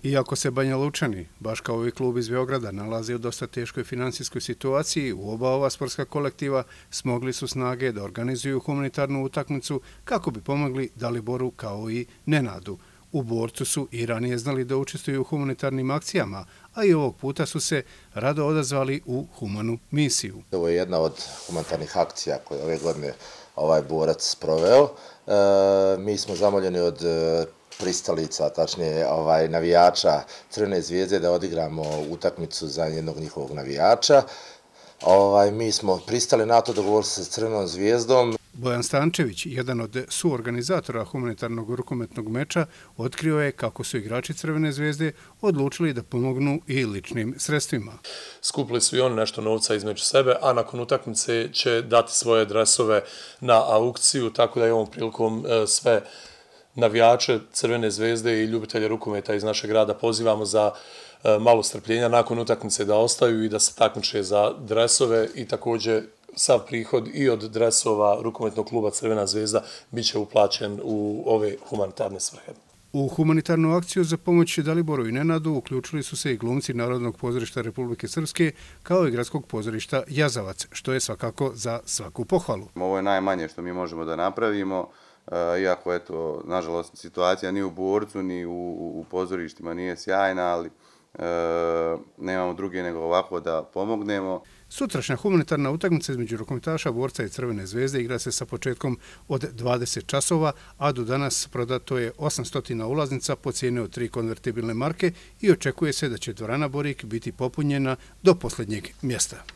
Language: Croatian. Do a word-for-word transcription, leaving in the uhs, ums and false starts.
Iako se Banja Lučani, baš kao i klub iz Beograda, nalazi u dosta teškoj finansijskoj situaciji, u oba ova sportska kolektiva smogli su snage da organizuju humanitarnu utakmicu kako bi pomogli Daliboru kao i Nenadu. U Borcu su i ranije znali da učestvuju u humanitarnim akcijama, a i ovog puta su se rado odazvali u humanu misiju. Ovo je jedna od humanitarnih akcija koje ove godine ovaj Borac proveo. E, mi smo zamoljeni od pristalica, tačnije ovaj, navijača Crvene zvijezde da odigramo utakmicu za jednog njihovog navijača. Ovaj, mi smo pristali na to, dogovorili se s Crvenom zvijezdom. Bojan Stančević, jedan od suorganizatora humanitarnog rukometnog meča, otkrio je kako su igrači Crvene zvezde odlučili da pomognu i ličnim sredstvima. Skupili su i oni nešto novca između sebe, a nakon utakmice će dati svoje dresove na aukciju, tako da je ovom prilikom sve navijače Crvene zvezde i ljubitelje rukometa iz našeg grada pozivamo za malo strpljenja nakon utakmice da ostaju i da se takmiče za dresove i također sav prihod i od dresova rukometnog kluba Crvena zvezda bit će uplaćen u ove humanitarne svrhe. U humanitarnu akciju za pomoć Daliboru i Nenadu uključili su se i glumci Narodnog pozorišta Republike Srpske kao i gradskog pozorišta Jazavac, što je svakako za svaku pohvalu. Ovo je najmanje što mi možemo da napravimo. Iako, eto, nažalost, situacija ni u Borcu, ni u, u pozorištima nije sjajna, ali e, nemamo druge nego ovako da pomognemo. Sutrašnja humanitarna utakmica između rukometaša Borca i Crvene zvezde igra se sa početkom od dvadeset časova, a do danas prodato je osamsto ulaznica po cijeni od tri konvertibilne marke i očekuje se da će dvorana Borik biti popunjena do posljednjeg mjesta.